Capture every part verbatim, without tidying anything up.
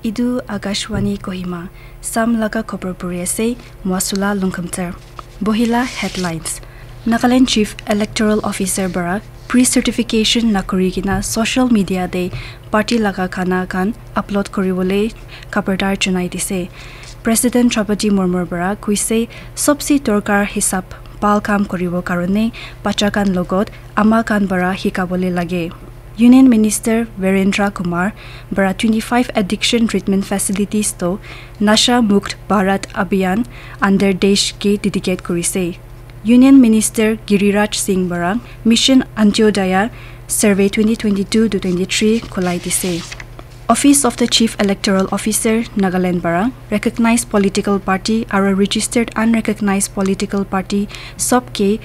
Etu Akashvani Kohima, Sam laga khobor puri ase, Mwasula Lungkhamter. Bohila headlines. Nagaland Chief Electoral Officer para pre-certification nakuri kena social media te party laga khana khan upload kuribole khabardar janai dise. President Draupadi Murmu para kuise sobse dorkar hisab bhal kam kuribo karone bacha khan logot ama khan para hikabole lage. Union Minister Virendra Kumar para twenty-five addiction treatment facilities to Nasha Mukt Bharat Abhiyan under desh ke dedicate kurise. Union Minister Giriraj Singh para Mission Antyodaya Survey twenty twenty-two to twenty-three khulai dise. Office of the Chief Electoral Officer, Nagaland para recognized political party aru registered unrecognized political party sob ke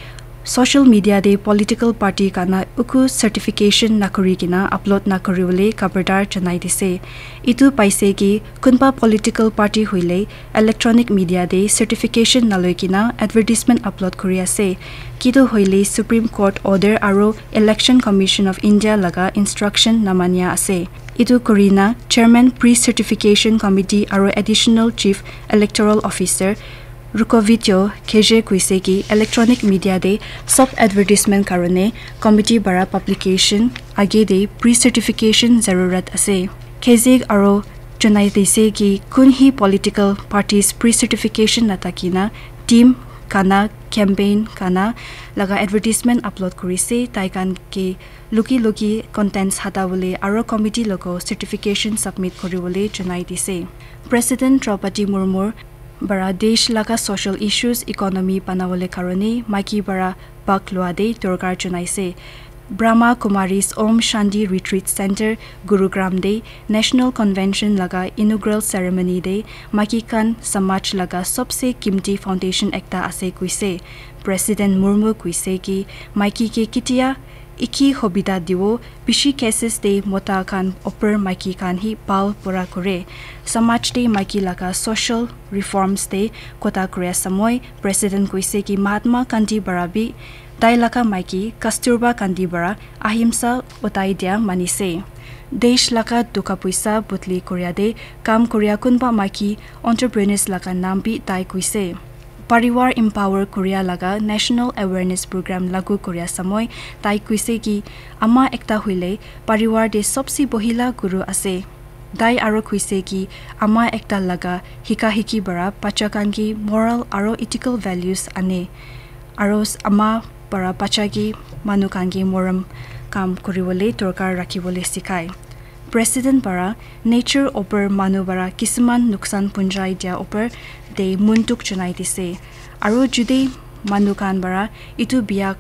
social media te political party kana uku certification nakuri kena upload nakuri bole khabardar janai dise. Etu paise ki kunba political party hoile electronic media te certification naloi kena advertisement upload kuri ase. Kitu hoile Supreme Court order aru Election Commission of India laga instruction namania ase. Etu kurina Chairman Pre-Certification Committee aru Additional Chief Electoral Officer Rukovityo Kheje kuise ki electronic media te sob advertisement karone committee para publication age te pre-certification zarurat ase. Kheje aru janai dise ki kun hi political parties pre-certification nathakina team kana campaign kana laga advertisement upload kurise, tai khan ke luki luki contents hata bole aru committee logo certification submit kuri bole janai dise. President Draupadi Murmu para desh laga social issues, economy banabole karone maiki para bhag lua de dorkar janaise. Brahma Kumaris Om Shanti Retreat Center, Gurugram de National Convention laga inaugural ceremony de maiki khan samaj laga sobse kimti foundation ekta ase kuise. President Murmu kuise ki maiki ke kitia iki hobida diwo, bishi cases de mota khan upor maiki khan hi bhal pura kore. Samaj de maiki laga social reforms de kota kuri ase moi. President kuise ki Mahatma Gandhi para bi tai laga maiki Kasturba Gandhi para ahimsa utai dia manise. Desh laga duka puisa butli kuria de kam kuria kunba maiki entrepreneurs laga naam bi tai kuise. Parivar empower kuria laga National Awareness Program lagu kuria samoi tai kuise ki ama ekta hoile parivar de sobse bohila guru ase. Tai aro kuise ki ama ekta laga hika hiki bara bacha khan ki moral aro ethical values ane. Aro s- ama para bacha ki manu khan ki morom kam kuribole dorkar rakhibole sikhai. President para nature opor manu para kisuman nuksan punjai dia opor de munduk junai dise. Aro jude manu khan para itu bia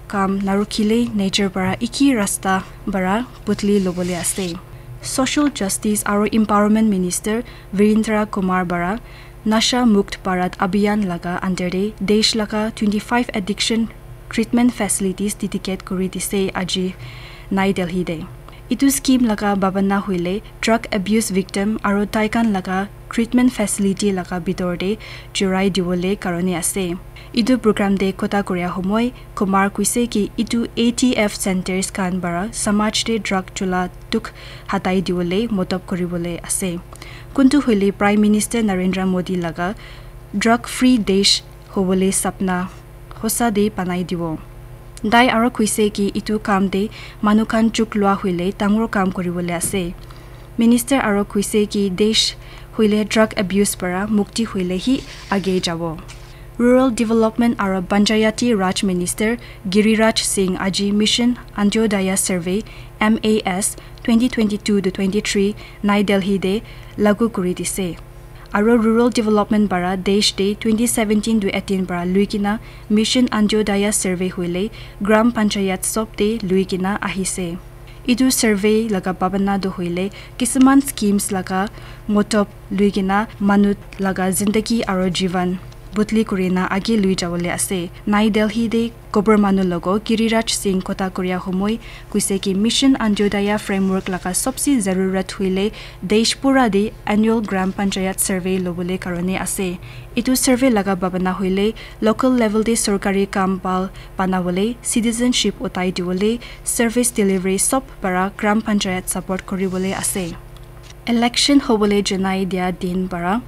kam narukhile nature para iki rasta para butli lobole ase. Social Justice aro Empowerment Minister Virendra Kumar para Nasha Mukt Bharat Abhiyan laga under de desh laga twenty-five addiction treatment facilities dedicate kuri dise aji Nai Delhi de. Itu scheme laga babana hoile drug abuse victim aro taikan laga treatment facility laga bitor de jurai diwole karone ase. Itu program de kota koria homoi Kumar kuise ki itu A T F centers khan bara samaj de drug chula tuk hatai diwole motob kuribole ase. Kuntu hoile Prime Minister Narendra Modi laga drug free desh hobole sapna hosa de banai dibo. Tai aro kuise ki itu kam de manu khan chuk lua hoile dangor kam kuribole ase. Minister aro kuise ki desh hoile drug abuse para mukti hoile hi age jabo. Rural Development aro Panchayati Raj Minister Giriraj Singh aji Mission Antyodaya Survey M A S twenty twenty-two to twenty-three Nai Delhi de lagu kuri dise. Aro rural development bara desh de twenty seventeen to eighteen bara lui kena Mission Antyodaya Survey hoile Gram Panchayat sob de lui kena ahise. Itu survey laga babana do hoile kisuman schemes laga motob lui kena manu laga zindagi aro jivan butli kurina age lui jawole ase. Nai Delhi de Kobor manu logo Giriraj Singh kota koria homoi kuise ki Mission Antyodaya Framework laga sobse zarurat hoile desh pura de annual Gram Panchayat survey lobole karone ase. Itu survey laga babana hoile local level de sorkari kam bhal banabole, citizenship utai diwole, service delivery sob para Gram Panchayat support kuribole ase. Election hobole janai dia din para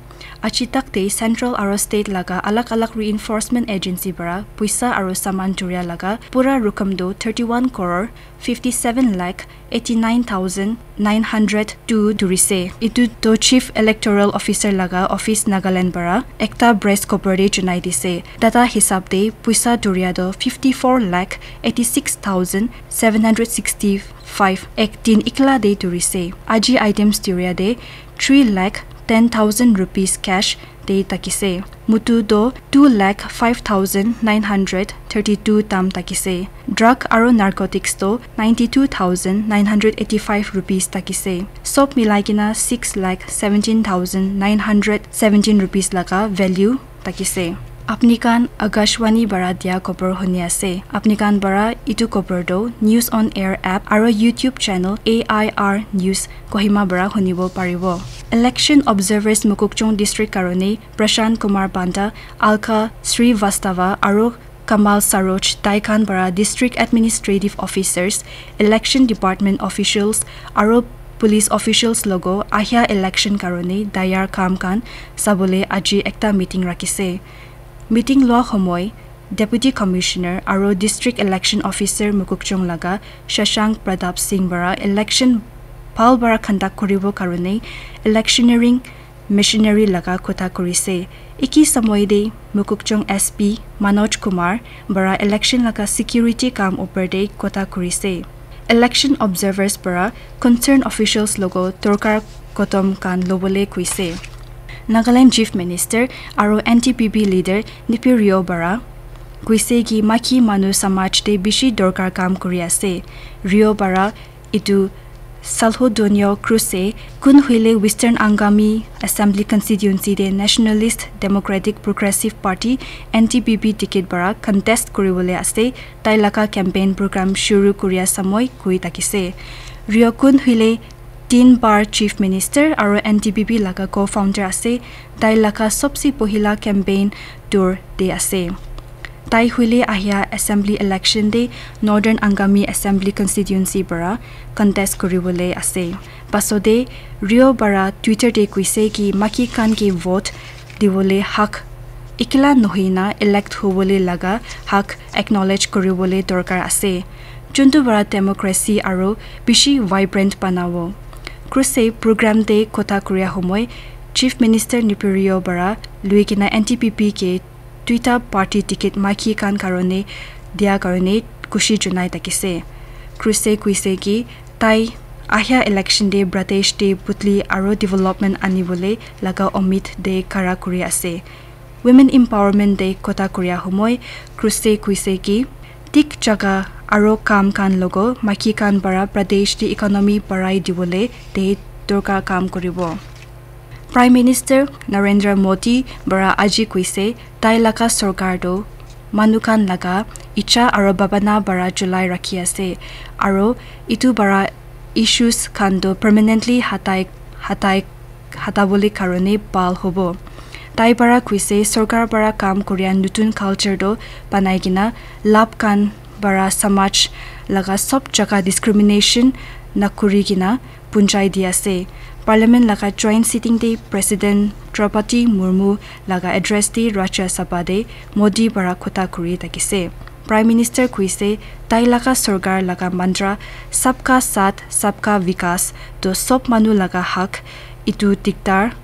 aji tak te central aro state laga alag alag reinforcement agency para puisa aro saman duria laga pura rukum do thirty one crore fifty seven lakh eighty nine thousand nine hundred two durise. Etu to Chief Electoral Officer laga office Nagaland para ekta press khobor te janai dise. Data hisab te puisa duria to fifty four lakh eighty six thousand seven hundred sixty five ek din ikla te durise. Aji items duria te three lakh ten thousand rupees cash te takise. Mutu to two lakh five thousand nine hundred thirty two tam takise. Drug aro narcotics to ninety two thousand nine hundred eighty five rupees takise. Sob milai kena six lakh seventeen thousand nine hundred seventeen rupees laga value takise. Apni khan Akashvani bara dia khobor huni ase. Apni khan bara itu khobor to News on Air app aro YouTube channel A I R News Kohima bara hunibo paribo. Election observers Mokokchung district karone Prashant Kumar Panda, Alka Srivastava aro Kamal Saroj tai khan para District Administrative Officers, Election Department officials aro police officials logo ahia election karone tayar kam khan sabole aji ekta meeting rakise. Meeting lua homoi Deputy Commissioner aro District Election Officer Mokokchung laga Shashank Pratap Singh para election bhal para conduct kuribo karone electioneering machinery laga kotha kurise. Eki samoi te Mokokchung S P Manoj Kumar para election laga security kam upor te kotha kurise. Election observers para concerned officials logo dorkar kodom khan lobole kuise. Nagaland Chief Minister aro N D P P leader Neiphiu Rio para kuise ki maki manu samaj te bishi dorkar kam kuri ase. Rio para itu Salho Donio Cruz e kun huile Western Angami Assembly Constituency te Nationalist Democratic Progressive Party N D P P ticket para contest kuribole ase, tai laga campaign program shuru kuria samoi koi takise. Rio kun huile tin bar Chief Minister aro N D P P laga co-founder ase, tai laga sobse pohila campaign tour te ase. Tai huile ahia assembly election te Northern Angami Assembly Constituency para contest kuribole ase. Pasode Rio para Twitter te kuise ki maki khan ke vote dibole hak ekla nohoi na elect hobole laga hak acknowledge kuribole dorkar ase. Juntu para democracy aro bishi vibrant banabo. Cruz e program te kotha kuria homoi Chief Minister Neiphiu Rio para lui kena N D P P ke duita party ticket maki khan karone dia karone khushi junai takise. Cruz e kuise ki tai ahia election te Pradesh te putli aro development anibole laga omid te khara kuri ase. Women empowerment te kotha kuria homoi Cruz e kuise ki thik jaga aro kam khan logo maki khan para Pradesh te economy barai dibole te dorkar kam kuribo. Prime Minister Narendra Modi para aji kuise tai laga sorkar to manu khan laga icha aro bhabana para cholai rakhi ase aro itu para issues khan to permanently hatai hatai hatabole karone bhal hobo. Tai para kuise sorkar para kam kuria nutun culture to banai kena lab khan para samaj laga sob jaga discrimination nakuri kena punjai di ase. Parliament laga joint sitting te President Draupadi Murmu laga address te Rajya Sabha te Modi para kotha kuri takise. Prime Minister kuise tai laga sorkar laga mantra Sabka Saath Sabka Vikas to sob manu laga hak itu diktar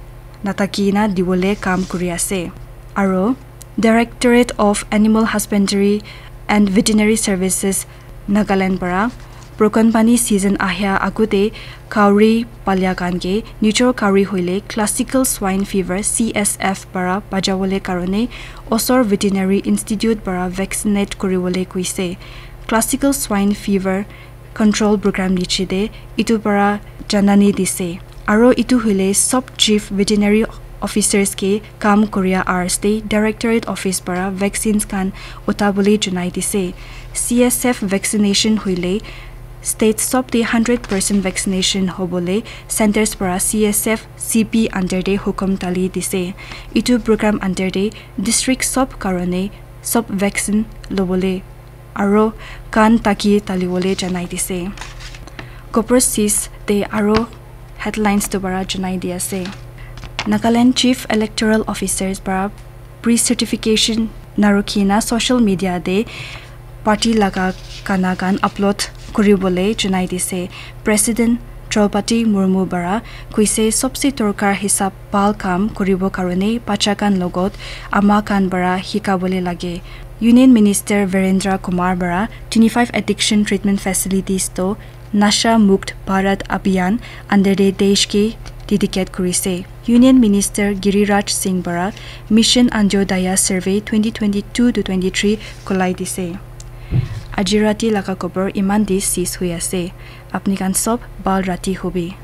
nathaki na dibole kam kuri ase. Aro Directorate of Animal Husbandry and Veterinary Services Nagaland para broken pani season ahia agute kauri palia khan ke nijor kauri hoile classical swine fever C S F para bajabole karone osor veterinary institute para vaccinate kuribole kuise. Classical swine fever control program niche te itu para janani dise. Aro itu hoile sob chief veterinary officers ke kam koria hours te directorate office para vaccines khan utabole janai dise. C S F vaccination hoile state sob te hundred percent vaccination hobole centers para C S F C P under te hukum dali dise. Itu program under te district sob karone sob vaccine lobole aro kan taki taliwole janai dise. Copper sis te aro Headlines tu para janai di ase. Nagaland Chief Electoral Officers para pre-certification narukhina social media te party laga gana khan upload kuribole janai dise. President Draupadi Murmu para kuise sobse dorkar hisab bhal kam kuribo karone bacha khan logot ama khan para hikabole lage. Union Minister Virendra Kumar para twenty-five addiction treatment facilities to Nasha Mukt Bharat Abhiyan under the desh ke dedicate kurise. Union Minister Giriraj Singh para Mission Antyodaya Survey twenty twenty-two to twenty-three kolai dise. Aji rati laga khobor iman di sis hui ase. Apni khan sob bhal rati hobi.